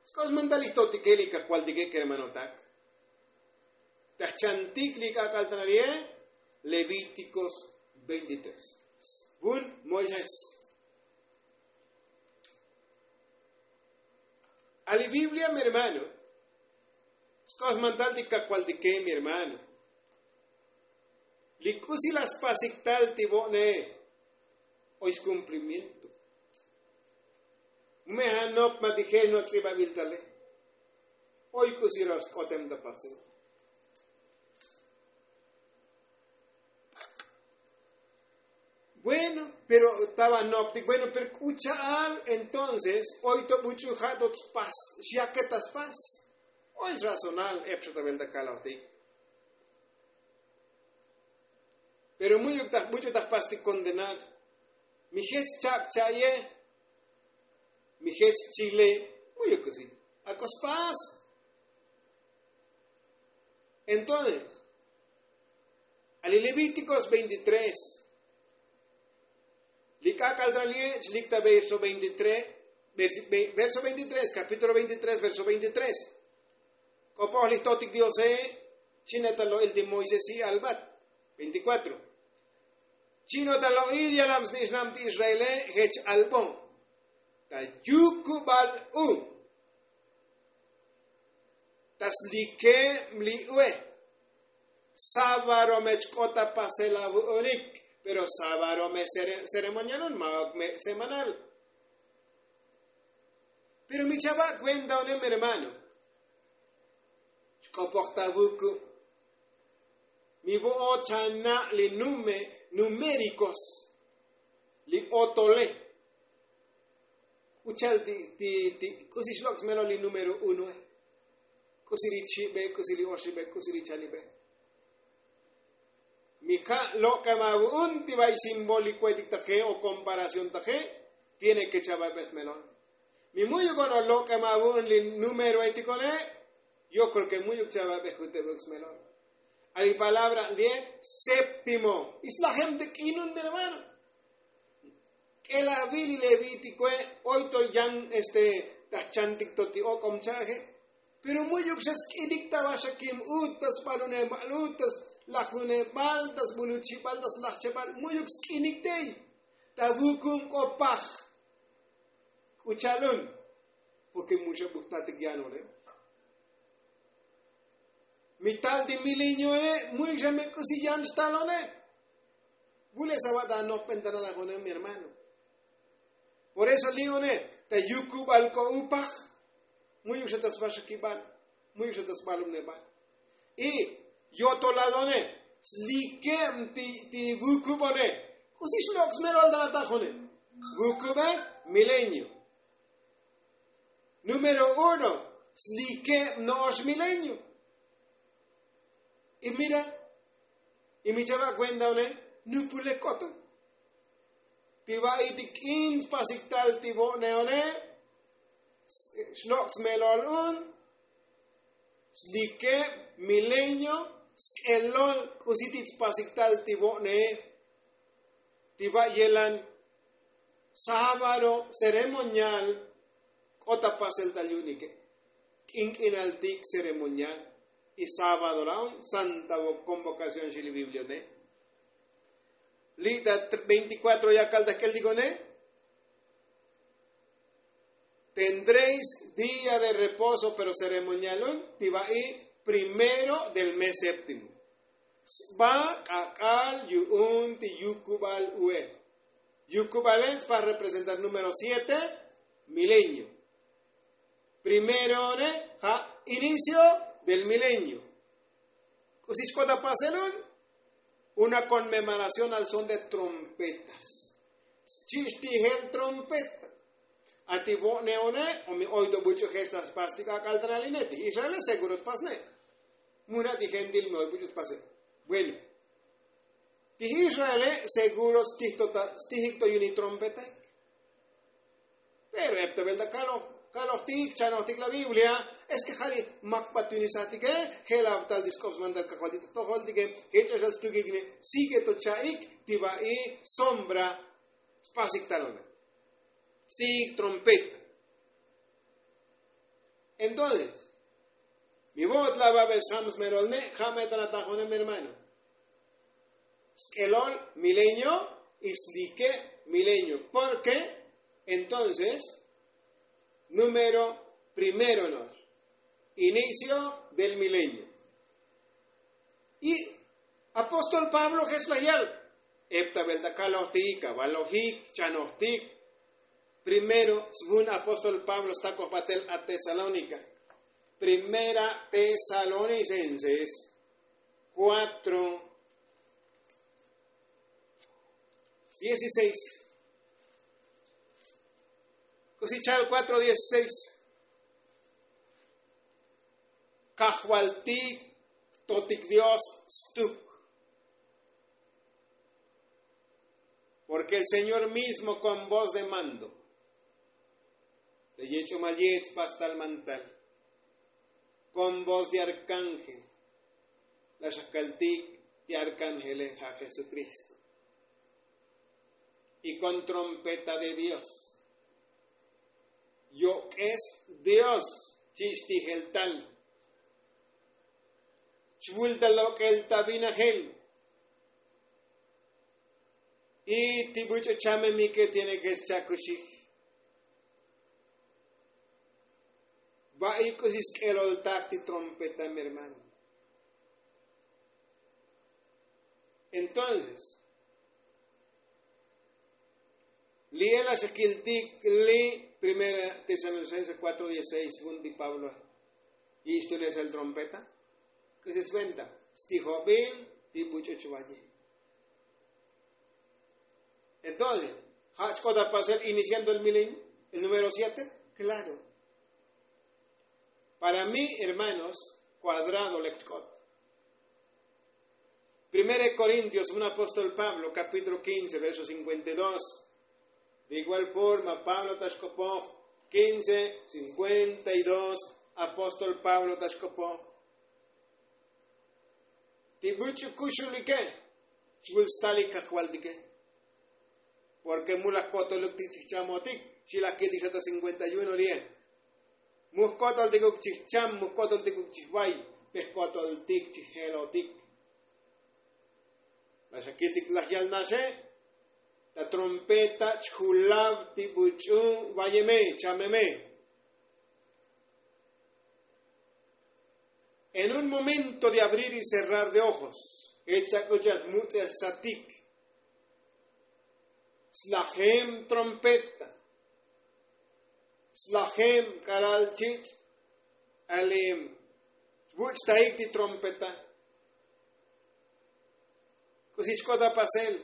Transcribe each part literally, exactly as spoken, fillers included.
Sk'ox mantal ixtotike li kajvaltike kermanotak. Tajchantik li k'ak'al ta nali'e. Levítikos veintitrés. Vun moisés. A li biblia mi hermano. Sk'ox mantal ti kajvaltike mi hermano. Li k'usi la spasik tal ti vo'ne. Oy skumplimiento. Mu me ja' nop ma ti jech no' ts'ibabil tale. Oy k'usi ro' sk'otem ta pasel. Bueno, pero taba noptik bueno pero k'u cha'al. Entonces oy to buch'u ja' to tspas xyake ta spas. Oy srazonal ep xa ta velta kalojtik. Pero mu'yuk ta jbuch'u ta jpastik kondenar. Mi jech chak' cha'ye. Mi jech chile. Mu'yuk kusi ak'o spas. Entonces a li levítikos veintitrés. Li k'ak'al tra li'e' chlik ta verso veintitrés. Verso veintitrés kapítulo veintitrés verso veintitrés. K'opoj li jtotik diose. Chine ta lo'il ti moisesi albat. Veinticuatro. Chino ta lo'il yalam snixnam ti israele jech albo. Ta yukubal u ta slike' li ue. Sabaro me chk'ot ta pasel avu'unik. Pero sabaro me seremonial un ma ok me semanal. Pero mi chava' kuenta une mi hermano. Chk'opoj ta vuku' mi vo'ot chana' li nume numerikos li otole. K'ucha'al ti ti ti k'usi xlok' smelol li numero unoe. K'usi ri chibe k'usi ri oxibe k'usi ri chalibe. Mi ja' lok'em avu'un ti va'i simbolik kuetik ta je o komparación ta je. Tiene ke chava'be smelol. Mi mu'yuk ono lok'em avu'un li numero etik one. Yo kreo ke mu'yuk chava'be jutebuk smelol. A li palabra li'e séptimo. Islajem te k'inun mi hermano. K'ela avi li levítikoe. Oy to yan este tajchantik to ti ok'om cha'aje. Pero mu'yuk xa sk'inik ta vaxakim ut ta sbalunebal ut ta slajunebal ta sbuluchibal ta slajchebal mu'yuk sk'inik tey. Ta vukum k'o paj. K'u cha'al un. Porke mu xa buktatik yan one. Mi tal ti mileñoe. Mu'yuk xa me k'usi yan xtal one. Vule' sava' ta anojben ta nalaj one mi hermano. Por eso li' one ta yukubal k'o upaj. Mu'yuk xa ta svaxakibal. Mu'yuk xa ta sbalumnebal. Y yotolal one slike'm ti vukub one. K'usi xlok' smelol ta nataj one. Vukube mileño. Número uno slike'm no'ox mileño. Y mira y mi chava' kuenta one. Nupulek k'oto ti va'i ti k'in spasik tal ti vo'ne one. Xlok' smelol un slike' mileño. Sk'elol k'usi ti tspasik tal ti vo'ne ti va' yelan sábado seremonial. K'ot ta pasel tal yu'unike k'ink'inaltik seremonial. Y sábado la'on santa convokación xi li biblia one. Li' ta veinticuatro yakal ta k'eltik one. Tendréis día de reposo pero seremonial un ti va'i primero del mes séptimo. Sba k'ak'al yu'un ti yukubal ue. Yukubale' tspa representar número siete. Mileño. Primero one ja' inicio del mileño. K'usi chk'ot ta pasel un. Una konmemoración al son de trompetas. Chi' xtijel trompeta. A ti vo'ne one o mi oy to buch'u jech ta spas ti k'ak'al ta naline ti israele seguro tpasne. Muna' ti gentil mi oy buch'u tpase. Bueno. Ti israele seguro stijik to yu'un li trompetaik. Pero ep ta velta kaloj kalojtik chanojtik la biblia. Es ke ja' li mak batunizatike. Je' la tal ti sk'op smantal kajvaltik ta tojoltike. Je' ch'oxal stukikne. Sigue to cha'ik ti va'i sombra. Spasik talone. Ts'ik trompeta. Entonces mi vo'ot laba' be sjam smerol ne' ja' me ta natajonem hermano. Sk'elol milenio y slike' milenio. Porke entonces número primero no'ox inicio del milenio. Y apóstol pablo jech laj yal eptabel ta kalojtik avalojik chanojtik. Primero svun apóstol pablo stakoj batel a tesalónika. Primera tesalonicenses kuatro dieciséis. K'usi cha'al kuatro dieciséis. Kajvaltik totik dios stuk. Porke el señor mismo kon voz de mando le yech'umal yech pastal mantal kon voz de arkángel. La xakaltik ti arkángele ja' jesukristo. Y kon trompeta de dios yok'es dios chich' ti jeltal. Chvul ta lok'el ta vinajel y ti buch'u chamemike tiene ke xcha'kuxij. Va'i k'usi sk'eloltak ti trompeta mi hermano. Entonces li'e la xakiltik li' primera tesalonicense kuatro dieciséis jun ti pablo yich' tunesel trompeta. K'usi sventa stijobil ti buch'u chvaye. Entonces ja' chk'ot apasel iniciando el milenio el número siete. Klaro. Para mí hermanos kuadrado lek chk'ot. Primera de korintios un apóstol pablo kapítulo kince verso cinkuenta y dos. De igual forma pablo ta xk'opoj kince cinkuenta y dos. Apóstol pablo ta xk'opoj ti buch'u kuxulike chvul stalik kajvaltike. Porke mu laj ko'toluk ti chij chamotik xi laj kiltik xa ta cinkuenta y uno li'e. Mu jko'toltikuk chij cham mu jko'toltikuk chij vay. Pe jko'toltik chij jelotik. La xakiltik laj yal naxe ta trompeta chjulav ti buch'u vayeme chameme. En un momento de abrir y cerrar de ojos jech chak'uchaj mutz'ejsatik slajem trompeta. Slajem k'alal chich' alim chvuch'taik ti trompeta. K'usi chk'ot apasel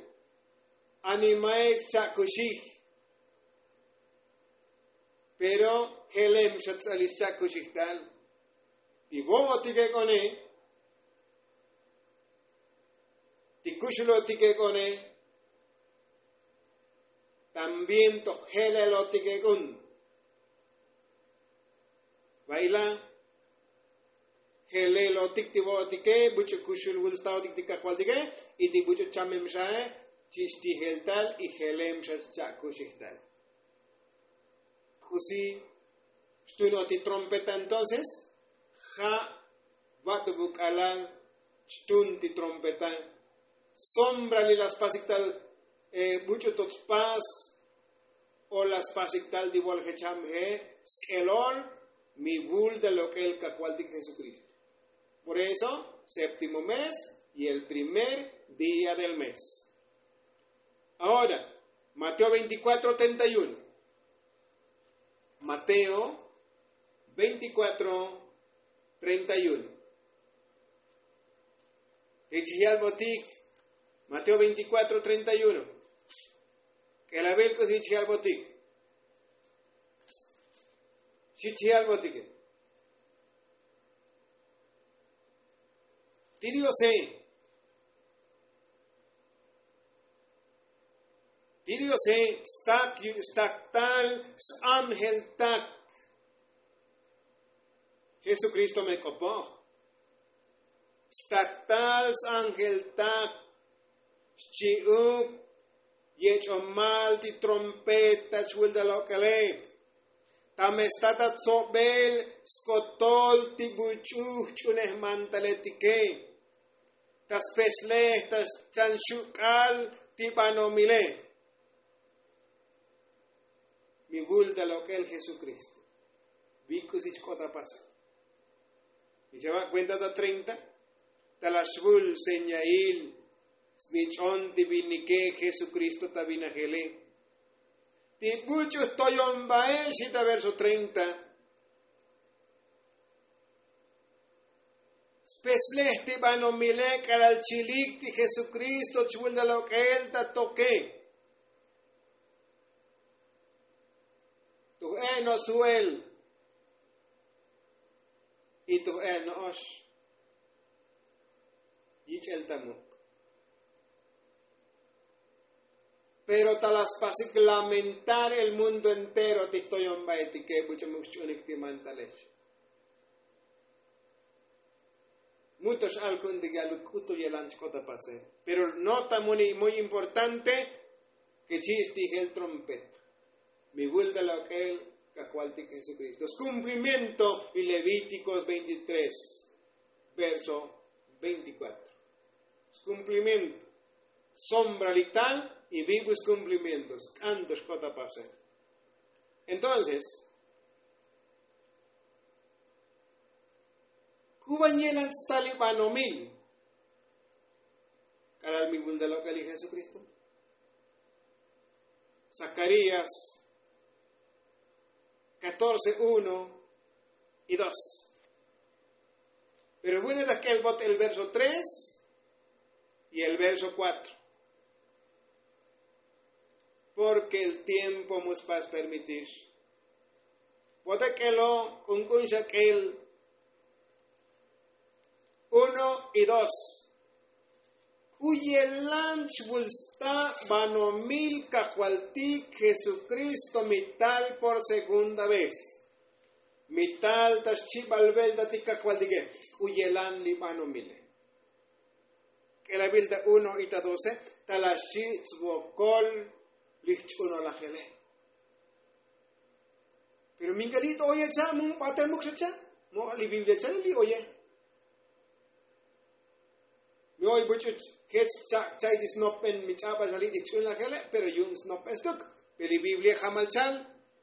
animaik chcha'kuxij. Pero jelem xa ts'alil xcha'kuxij tal ti vo'otik ek'one ti kuxulotik ek'one también toj jelelotik ek'un. Va'ila jelelotik ti vo'otike buch'u kuxul vul staotik ti kajvaltike y ti buch'u chamem xae chich' ti jeltal y jelem xa chcha'kuxijtal. K'usi xtun o ti trompeta entonces ja' vat'ubuk k'alal xtun ti trompeta. Sombra li la spasik tal buch'u tot spas o la spasik tal ti vol jecham je sk'elol mi vul ta lok'el kajvaltik jesukristo. Por eso séptimo mes y el primer día del mes. Ahora mateo veinticuatro treinta y uno. Mateo veinticuatro treinta y uno. Jich yalbotik mateo veinticuatro treinta y uno. K'elabil k'usi jich yalbotik. Jich yalbotike ti diose ti diose stak staktal s-angeltak. Jesukristo me k'opoj staktal s-angeltak xchi'uk yech'omal ti trompeta chvul ta lok'ele. Ta me sta ta tsobel skotol ti buch'u jch'unej mantaletike, ta spexlej ta chan xuk'al ti banomile. Mi vul ta lok'el jesukristo. Bi k'usi chk'ot apasa. Mi chava' kuenta ta treinta. Ta la xvul señail snich'on ti vinike jesukristo ta vinajele. Ti buch'u jtoyon bael xi ta verso treinta. Spechlej ti banomile k'alal chilik ti jesukristo chvul ta lok'el ta toke. Tuj e' no'ox suel y tuj e' no'ox yich'el ta muk'. Pero ta la spasik lamentar el mundo entero ti jtoyon baetike buch'u muk' xch'unik ti mantalex. Muto x'al ku'untik yaluk k'utu yelan chk'ot apase. Pero nota muy importante ke chi' xtijel trompeta. Mi vul ta lok'el kajvaltik jesukristo skumplimiento y levítikos veintitrés verso veinticuatro. Skumplimiento. Sombralik tal y vivo skumplimiento sk'anto xk'ot apase. Entonces, kuban yelan sta li banomil k'alal mi vul ta lok'el li jesukristo? Zakarías catorce uno y dos. Pero vune ta k'el bot el verso tres y el verso cuatro. Porke el tiempo mu spas permitir. Bote k'elo k'unk'un xa k'el uno y dos. K'u yelan chvul sta banomil kajvaltik jesukristo mi tal por segunda vez. Mi tal ta xchibal velta ti kajvaltike. K'u yelan li banomile. K'elavil ta uno y ta doce ta la xchi' tsvokol li jch'unolajele. Pero minka li' to oye cha' mu batemuk xa cha'. Mo' li biblia cha' li oye. Mi oy buch'u jech cha' cha'ay ti snopen mi ch'abal xa li' ti jch'unlajele pero yu'un snopen stuk. Pero li biblia jamal chal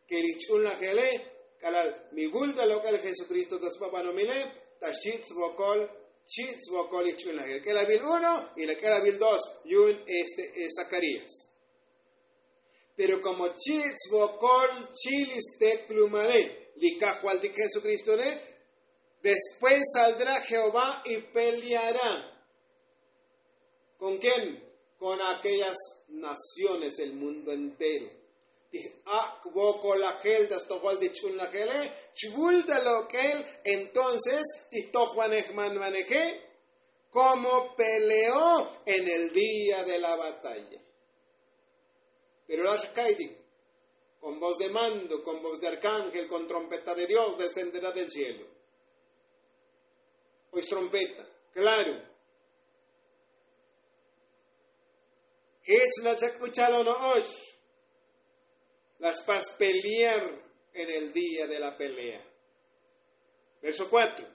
ke li jch'unlajele k'alal mi vul ta lok'el jesukristo ta sba banomile ta xchi' tsvokol chi' tsvokol li jch'unlajele k'elavil uno y la k'elavil dos yu'un este zacarías. Pero komo chi' tsvokol chi' li steklumale li kajvaltik jesukristole. Después saldrá jehová y peleará. Kon ken? Kon aquellas naciones del mundo entero. Ti ak' vokolajel ta stojol ti ch'unlajele chvul ta lok'el. Entonces ti jtojvanej manvaneje komo peleó en el día de la batalla. Pero la' xa ka'aytik kon voz de mando kon voz de arkángel kon trompeta de dios descenderá del cielo. Oy strompeta klaro. Jech la chak' uchalo no'ox. La spas pelear en el día de la pelea. Verso cuatro.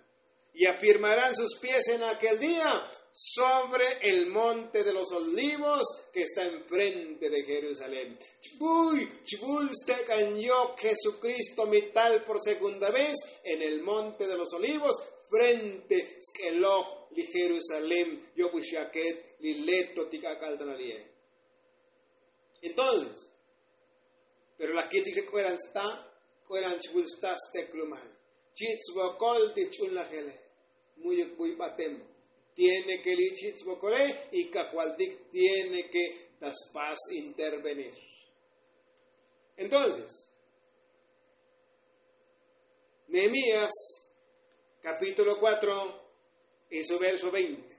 Y afirmarán sus pies en aquel día sobre el monte de los olivos que está enfrente de jerusalén. Chbuy chbul stek'an yok jesukristo mi tal por segunda vez en el monte de los olivos frente sk'eloj li jerusalén. Yobuxyaket li leto ti k'ak'al ta nali'e. Entonces pero la kiltik xa k'uelan sta k'uelan chvul sta steklumal. Chi' tsvokol ti ch'unlajele. Mu'yuk buy batem tiene ke li' chi' tsvokole y kajvaltik tiene ke ta spas intervenir. Entonces nehemías kapítulo kuatro en su verso veinte.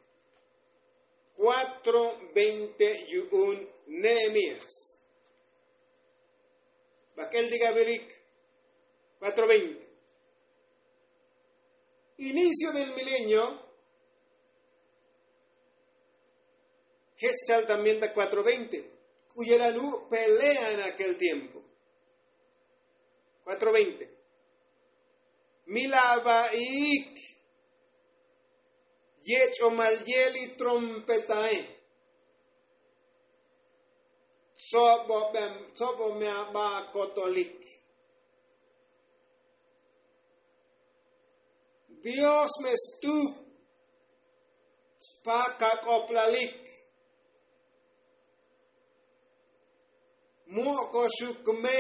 Kuatro veinte yu'un nehemías. Bak'el ti gavilik. Kuatro veinte. Inicio del milenio. Jech chal también ta kuatro veinte. K'u yelan u' pelea en aquel tiempo. Kuatro veinte. Mi lava'iik yech'omal ye' li trompetae. Tsobo me aba kotolik. Dios me stuk spak ak'oplalik. Mu' koxuk me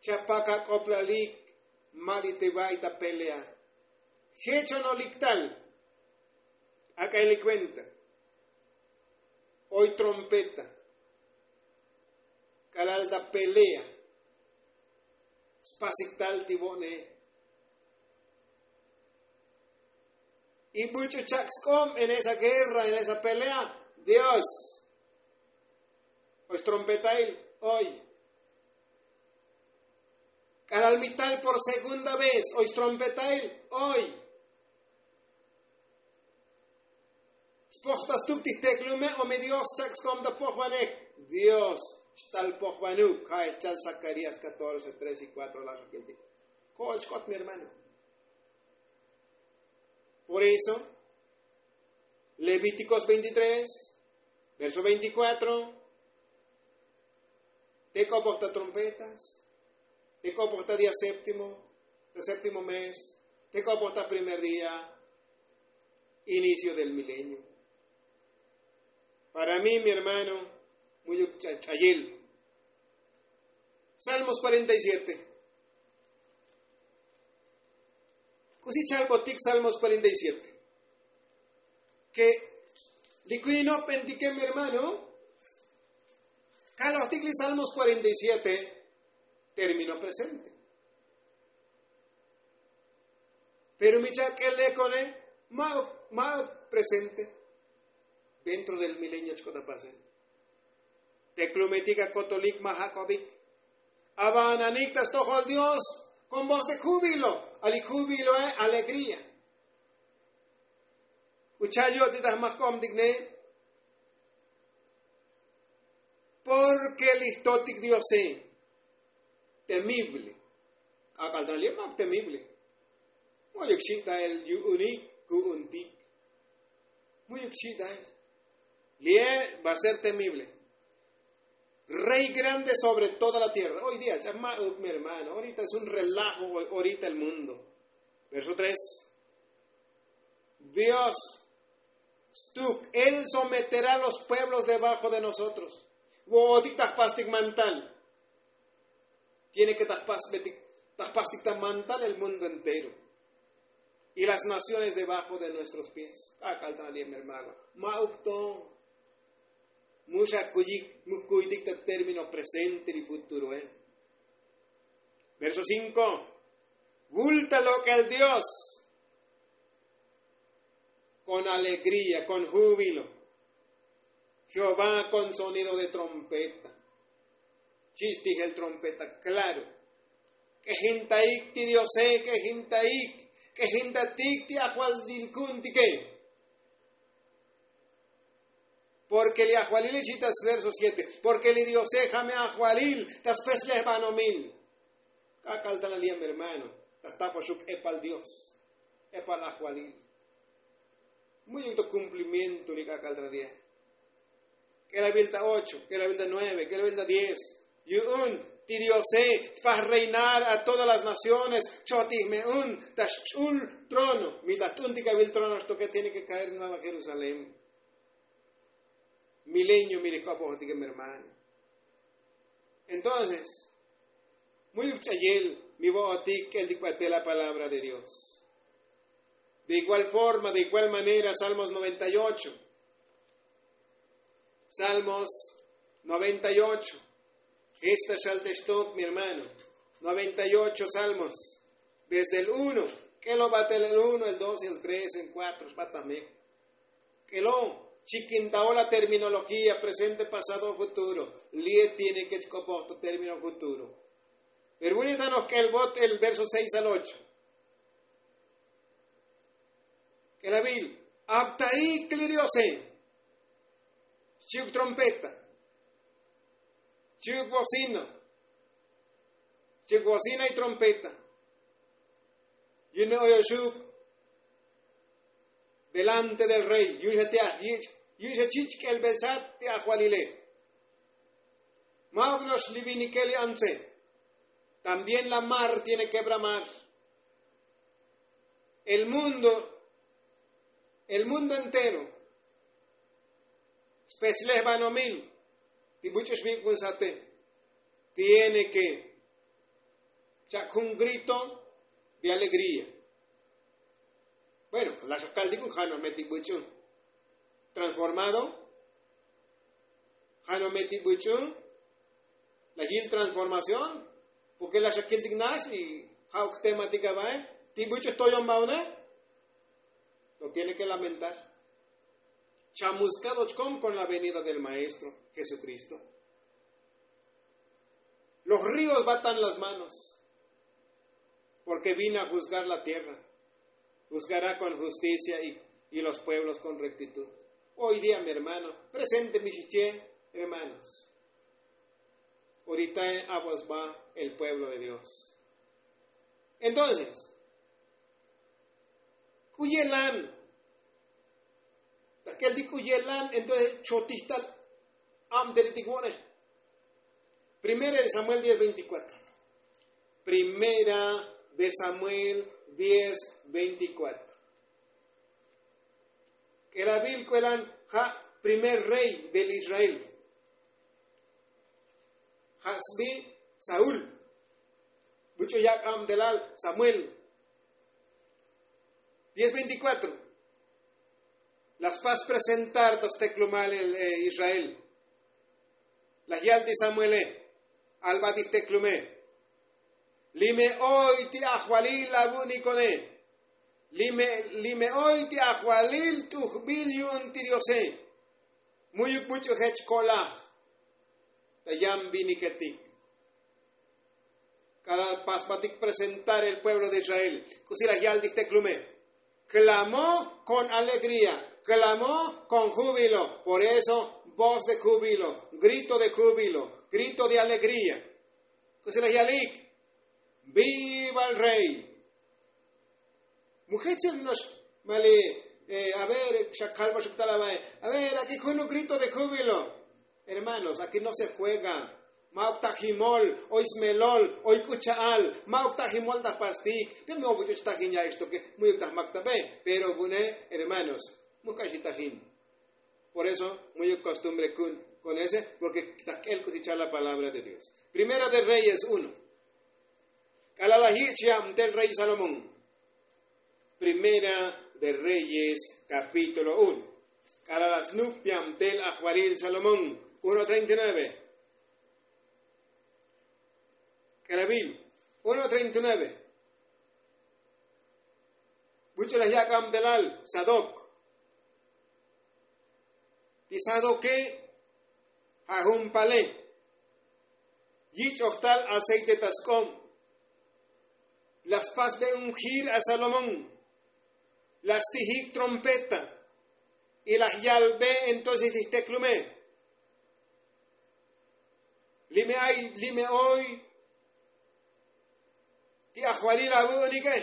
chapak ak'oplalik. Ma' li te va'i ta pelea. Jechonolik tal. Ak'a ili kuenta. Oy trompeta. K'alal ta pelea. Spasik tal ti vo'ne. Y buch'u chak' sk'ob en esa guerra, en esa pelea. Dios. Oy strompetail oy. K'alal mi tal por segunda vez oy strompetail oy. Spojta stuk ti jteklume o mi dios chak' skom ta pojvanej. Dios xtal pojvanuk ja' xchal zakarías catorce tres y kuatro la' xokiltik. Ko'ol xk'ot mi hermano. Por eso levítikos veintitrés verso veinticuatro. Te k'opoj ta trompetas. Te k'opoj ta día séptimo ta séptimo mes. Te k'opoj ta primer día. Inicio del milenio. Para mi mi hermano, muyuk ch'ayel. Salmos cuarenta y siete. K'usi chalbotik salmos cuarenta y siete. Ke li kuinino p'entike mi hermano. Kalojtik li salmos cuarenta y siete. Termino presente. Pero mi chak'el lekone ma' presente. Dentro del milenio chk'ot apase. Teklumetik akotolik ma' jak'obik. Ava'ananik ta stojol dios. Kon voz de júbilo. Ali júbilo e alegría. K'u cha'al yo'tik ta jmajk'obtik ne. Porke li jtotik diose. Temible. K'ak'al ta li' mak temible. Mu'yuk xi' ta el yu'unik ku'untik. Mu'yuk xi' ta el. Li' va ser temible. Rey grande sobre toda la tierra hoy día ch'ama'uk mi hermano orita es un relajo. Orita el mundo. Verso tres. Dios stuk él someterá los pueblos debajo de nosotros. Vo'otik ta jpastik mantal. Tiene ke ta jpastik ta mantal el mundo entero. Y las naciones debajo de nuestros pies k'ak'al ta li' mi hermano. Ma'uk to. Mu xa kuyik mu kuytik ta término presente li futuro e. Verso cinco. Vulta lok'el dios. Kon alegría kon júbilo. Jehová kon sonido de trompeta. Chich' tijel trompeta klaro. K'ejintaik ti diose k'ejintaik. K'ejintatik ti ajvalil ku'untike. Porke li ajvalil ixi ta sverso siete. Porke li diose ja' me ajvalil ta spechlejbanomil. K'ak'al ta la li' mi hermano. Ta jtapoxuk epal dios. Epal ajvalil. Mu'yuk to kumplimiento li k'ak'al ta la li'. K'elavil ta ocho k'elavil ta nueve k'elavil ta diez. Yu'un ti diose tpaj reinar a todas las naciones. Chotij me un ta xch'ul trono. Mi ta jt'untik avil trono xtoke tiene ke kaer nueva jerusalén. Milenio mi li k'opojotike mi hermano. Entonces mu'yuk ch'ayel mi vo'otik k'eltik batel la palabra de dios. De igual forma de igual manera salmos noventa y ocho. Salmos noventa y ocho. Jech ta xal te xtok mi hermano. Noventa y ocho salmos. Desde el uno k'elo batel el uno el dos el tres el kuatro xbatamek. K'elo chikintaol la terminología presente pasado futuro. Li' tiene ke chk'opoj ta término futuro. Pero vuni ta noj k'el vot el verso seis al ocho. K'elavil aptaik li diose. Xchi'uk trompeta. Xchi'uk bocina. Chik bocina y trompeta. Yu'un oyoxuk delante del rey yu'un xa ti' aj yich' yu'un xa chich' k'elbel sat ti' ajvalile. Ma'uk no'ox li vinikel li antse. También la mar tiene ke bramar. El mundo el mundo entero spechlej banomil ti buch'u xvik'un sate tiene ke chak' jun grito de alegría. Bueno, la xakaltikun ja' no' me ti buch'u transformado. Ja' no' me ti buch'u la yil transformación. Porke la xakiltik nax y ja' ok tematik avae ti buch'u toyon baune. Lo tiene ke lamentar. Chamuskado chkom kon la venida del maestro jesukristo. Los ríos batan las manos. Porke vino a juzgar la tierra. Juzgará kon justicia y los pueblos kon rectitud. Hoy dia mi hermano presente mi xiche hermanos. Oritae abos ba el pueblo de dios. Entonces k'u yelan ta k'el ti k'u yelan entonces chotij tal. Abtelitik vo'ne. Primera de samuel diez veinticuatro. Primera de samuel diez veinticuatro. K'elavil k'u yelan ja' primer rey del israel. Ja' sbi saúl. Buch'u yak' abtelal samuel. Diez veinticuatro. La spas presentar ta steklumal israel. Laj yal ti samuele. Alba ti jteklume. Li me oy ti ajvalil avu'nikone. Li me oy ti ajvalil t'ujbil yu'un ti diose. Mu'yuk buch'u jech ko'laj ta yan viniketik. K'alal pasbatik presentar el pueblo de israel. K'usi laj yal ti jteklume. Klamo kon alegría. Klamo kon júbilo. Por eso voz de júbilo, grito de júbilo, grito de alegría. K'usi laj yalik. Viva el rey. Mujechel no'ox mali. A ver xa kalbaxuk tal avae. A ver akik junuk grito de júbilo. Hermanos akik no se juega. Ma'uk ta jimol oy smelol oy k'u cha'al. Ma'uk ta jimol ta jpastik. Te me obuch'u chtajin ya'ixtoke. Mu'yuk ta jmak ta be. Pero vune hermanos muk k'ax itajin. Por eso mu'yuk kostumbre ku'un kon ese. Porke ta k'el k'usi cha'al la palabra de dios. Primera de reyes uno. K'alal la yich' yabtel rey salomón. Primera de reyes kapítulo uno. K'alal la snuk yabtel ajvalil salomón. Uno treinta y nueve. K'elavil uno treinta y nueve. Buch'u laj yak' abtelal sadok. Ti sadoke ja' jun pale. Yich'oj tal aceite ta sk'ob. La spasbe ungir a salomón. La stijik trompeta. Y laj yalbe entonces ti jteklume. Li me ay li me oy ti ajvalil avu'unike.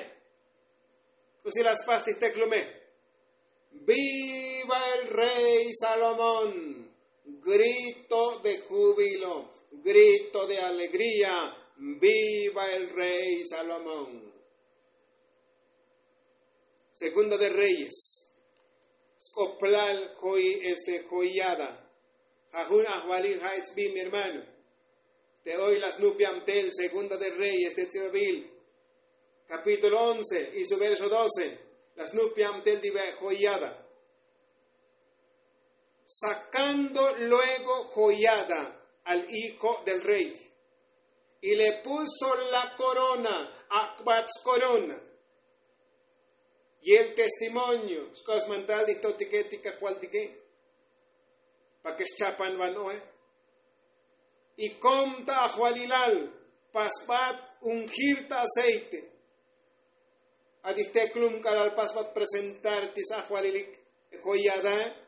K'usi la spas ti jteklume. Viva el rey salomón. Grito de júbilo, grito de alegría. Viva el rey salomón. Segunda de reyes. Sk'oplal joyada. Ja' jun ajvalil ja' etsbi mi hermano. Te oy la snup yabtel segunda de reyes te tz'ibabil kapítulo once y su verso doce. La snup yabtel ti ve' joyada. Sacando luego joyada al hijo del rey y le puso la korona. Ak'bat skorona. Y el testimonio sk'os mantal ti jtotike ti kajvaltike. Pake xchapan vano'e. Y kom ta ajvalilal pasbat ungir ta aceite. A ti jteklum k'alal pasbat presentar ti sajvalilik joyadae.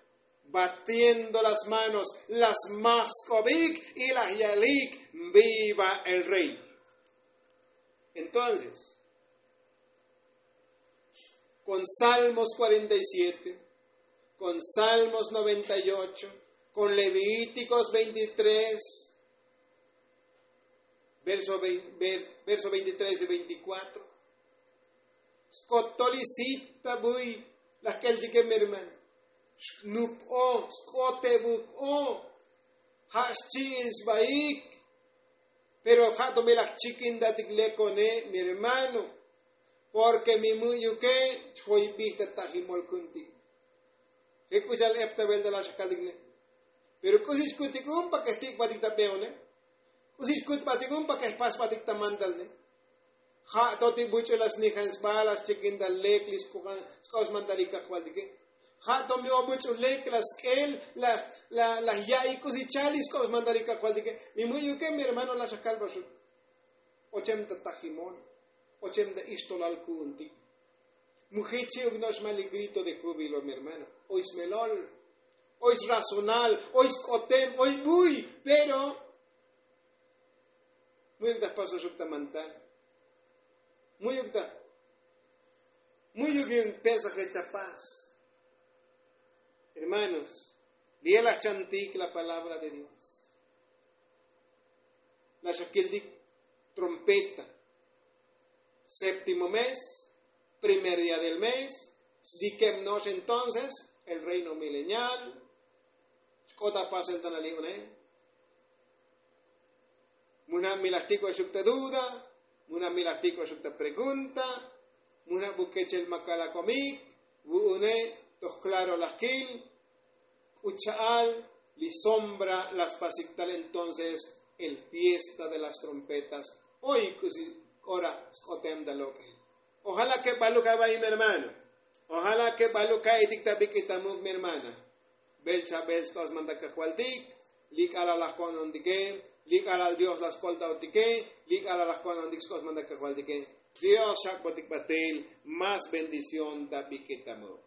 Batiendo las manos la smaj sk'obik y laj yalik. Viva el rey. Entonces, kon salmos kuarenta y siete, kon salmos noventa y ocho, kon levítikos veintitrés, verso veintitrés y veinticuatro. Skotol isit ta buy laj k'eltike mi hermano. Xnup'o sk'ote buk'o. Ja' xchi'in sbaik. Pero ja' to mi laj chikintatik lekone mi hermano. Porke mi mu'yuke chjoybij ta tajimol kuntik. Je' k'u cha'al ep ta belta laj xakaltik ne. Pero k'usi xkutik un pa ke jtikbatik ta beone. K'usi xkut batik un pa ke jpas batik ta mandal ne. Ja' to ti buch'u laj snijan sba laj xchikin ta lek li sk'ob smantal li kajvaltike. Ja' to mi o buch'u lek laj sk'el laj ya'i k'usi chal li sk'ob smantal li kajvaltike. Mi mu'yuke mi hermano laj xakalbaxuk. Ochem ta tajimol. Ochem ta ixtolal ku'untik. Mu jichi'uk no'ox ma' li grito de júbilo mi hermano. Oy smelol, oy srazonal, oy sk'otem, oy buy. Pero mu'yuk ta jpasoxuk ta mantal. Mu'yuk ta mu'yuk yu'un persa je' chapas. Hermanos, li'e laj chantik la palabra de dios. Laj xakiltik trompeta. Séptimo mes, primer día del mes. Sdikeb no'ox entonces el reino milenial. Xk'ot apasel ta nali' une. Muna' mi laj tik'oxuk ta duda. Muna' mi laj tik'oxuk ta pregunta. Muna' bukechel makal akomik. Vu'une toj klaro laj kil. K'u cha'al li sombra laj spasik tal entonces el fiesta de las trompetas. Oy k'usi k'ora sk'otem ta lok'el. Ojala ke baluk ava'i mi hermano. Ojala ke baluk ka'itik ta bik'it ta muk mi hermana. Bel chabel sk'ob smantal kajvaltik. Li k'alal laj ko'nontike. Li k'alal dios laj skoltaotike. Li k'alal laj ko'nontik sk'ob smantal kajvaltike. Dios xak'botik batel. Más bendición ta bik'it ta muk.